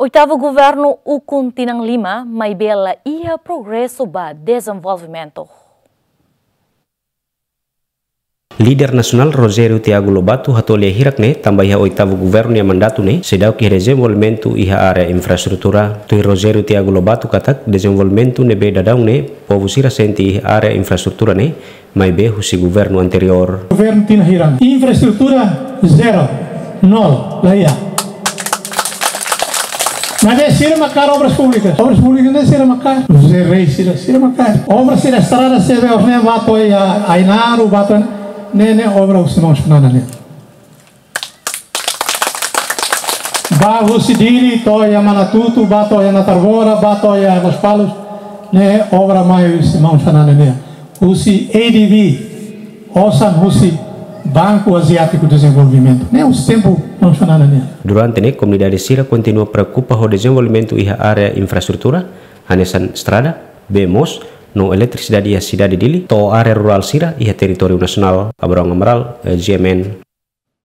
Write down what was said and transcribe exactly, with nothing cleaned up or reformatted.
Oitavu governu ukun tinan lima, maibé la iha progresu ba dezenvolvimentu. Líder nasionál Rogério Tiago Lobato hato'o lia hirak ne'e, tanba iha oitavu governu nia mandatu ne'e seidauk iha dezenvolvimentu iha área infraestrutura. Tuir Rogério Tiago Lobato katak, dezenvolvimentu ne'ebé daudaun ne'e povu sira sente iha área infraestrutura ne'e, maibé husi governu anteriór. Governu tinan hirak, infraestrutura zero, nol, la iha. Maibé sira mak kaer obras públikas. Obras públikas ne'e sira mak kaer. José Rei sira, sira mak kaer. Obra sira estrada sira be orne ba to'o iha Ainaro, ba to'o ne'e, ne'e obra husi maun Xanana nian. Ba husi Dili to'o iha Manatutu, ba to'o iha Natarbora, ba to'o iha Lospalos, ne'e obra mai husi maun Xanana nian. Husi A D B, osan husi Banku Aziátiku Dezenvolvimentu. Ne'e husi tempu maun Xanana nian. Durante ne'e, komunidade sira kontinua preokupa ho dezenvolvimentu iha área infraestrutura, hanesan estrada, bee moos, no eletrisidade iha sidade Dili, to'o área rurál sira iha territóriu nasionál. Abrão Amaral, eh, G M N,